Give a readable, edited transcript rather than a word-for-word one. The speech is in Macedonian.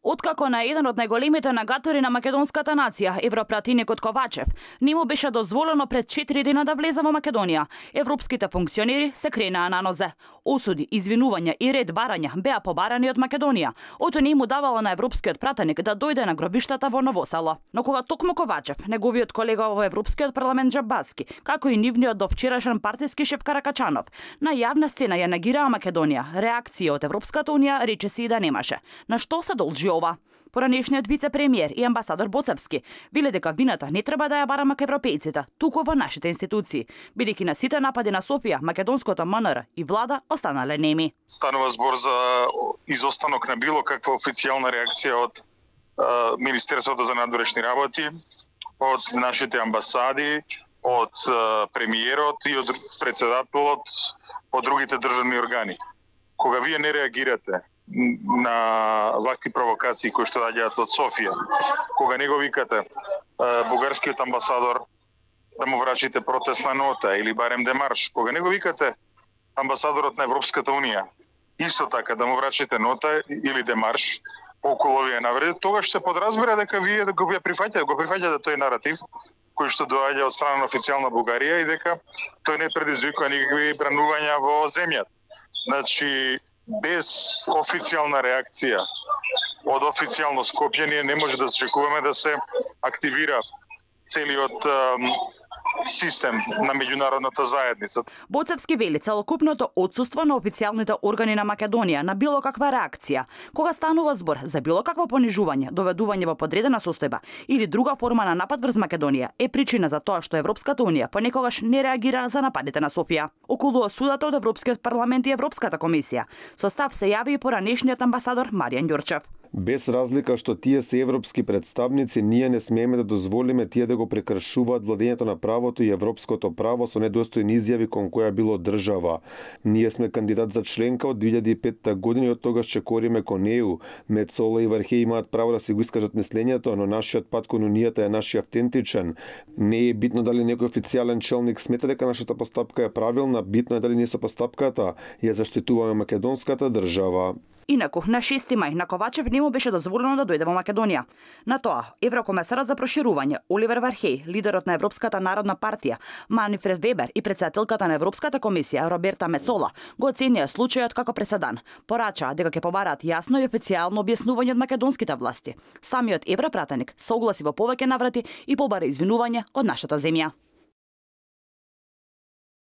Откако на еден од најголемите нагатори на македонската нација, европратеникот Ковачев, не му беше дозволено пред 4 дена да влезе во Македонија, европските функционери се кренаа на нозе. Осуди, извинувања и ред барања беа побарани од Македонија. Ото не му давало на европскиот пратеник да дојде на гробиштата во Ново Село. Но кога токму Ковачев, неговиот колега во Европскиот парламент Джамбаски, како и нивниот довчерашен партиски шеф Каракачанов, на јавна сцена ја негираа Македонија, реакција од Европската унија речиси и да немаше. На што се должи ова? Поранешниот вице-премиер и амбасадор Боцевски веле дека вината не треба да ја бараме ка европејците, туку во нашите институции, бидејќи на сите напади на Софија, македонското МНР и влада останале неми. Станува збор за изостанок на било каква официјална реакција од Министерството за надворешни работи, од нашите амбасади, од премиерот и од председателот, од другите државни органи. Кога вие не реагирате на вакви провокации кои што доаѓаат од Софија, кога не го викате бугарскиот амбасадор да му врачите протестна нота или барем демарш, кога не го викате амбасадорот на Европската унија, исто така да му врачите нота или демарш околу овие навреди, тогаш се подразбира дека вие го прифаќате тој наратив кој што доаѓа од страна на официјална Бугарија и дека тој не предизвикува никакви бранувања во земјата. Значи, без официјална реакција од официјално Скопје ние не може да очекуваме да се активира целиот систем на меѓународната заедница. Боцевски вели целокупното отсуство на официјалните органи на Македонија на било каква реакција, кога станува збор за било какво понижување, доведување во подредена состојба или друга форма на напад врз Македонија, е причина за тоа што Европската унија понекогаш не реагира за нападите на Софија. Околу осудата од Европскиот парламент и Европската комисија, со став се јави и поранешниот амбасадор Маријан Ѓурчев. Без разлика што тие се европски представници, ние не смееме да дозволиме тие да го прекршуваат владењето на правото и европското право со недостојни изјави кон која било држава. Ние сме кандидат за членка од 2005 година и од тогаш чекориме кон ЕУ. Мецола и Вархеј имаат право да си го искажат мислењето, но нашиот пат кон унијата е нашиот автентичен. Не е битно дали некој официјален челник смета дека нашата постапка е правилна, битно е дали ние со постапката ја заштитуваме македонската држава. Инаку, на 6 мај на Ковачев не му беше дозволено да дојде во Македонија. На тоа, еврокомесарот за проширување Оливер Вархеј, лидерот на Европската народна партија Манфред Вебер и председателката на Европската комисија Роберта Мецола го оценија случајот како преседан. Порачаа дека ќе побараат јасно и официјално објаснување од македонските власти. Самиот европратеник се огласи во повеќе наврати и побара извинување од нашата земја.